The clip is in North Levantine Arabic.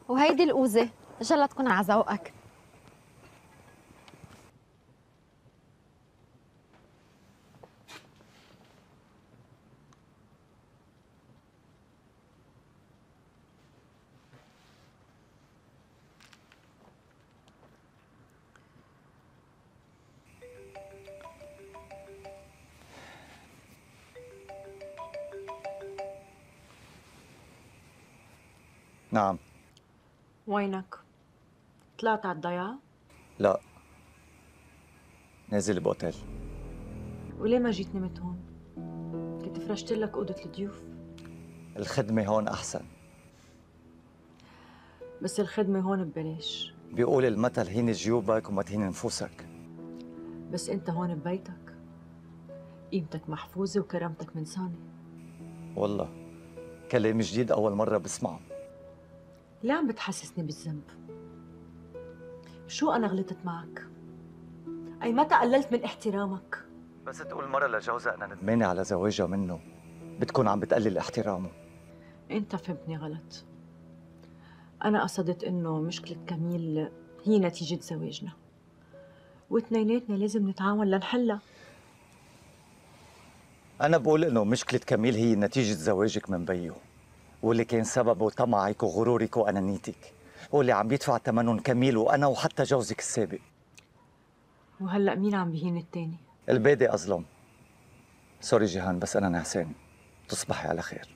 وهيدي الأوزة إن شاء الله تكون على ذوقك. نعم. وينك؟ طلعت على الضيعة؟ لا، نازل بأوتيل. وليه ما جيت نمت هون؟ كنت فرشت لك أوضة الضيوف. الخدمة هون أحسن. بس الخدمة هون ببلاش. بيقول المثل هين جيوبك وما تهين نفوسك. بس أنت هون ببيتك، قيمتك محفوظة وكرامتك منسانة. والله كلام جديد أول مرة بسمعه. ليه عم بتحسسني بالذنب؟ شو أنا غلطت معك؟ أي متى قللت من احترامك؟ بس تقول مرة لجوزها أنا ندمانة على زواجها منه بتكون عم بتقلل احترامه. أنت فهمتني غلط. أنا قصدت إنه مشكلة كميل هي نتيجة زواجنا، واثنيناتنا لازم نتعاون لنحلها. أنا بقول إنه مشكلة كميل هي نتيجة زواجك من بيو، واللي كان سببه طمعك وغرورك وأنانيتك، واللي عم يدفع ثمنهم كميل وأنا وحتى جوزك السابق. وهلأ مين عم بيهين التاني؟ البادي أظلم. سوري جيهان، بس أنا نعسان. تصبحي على خير.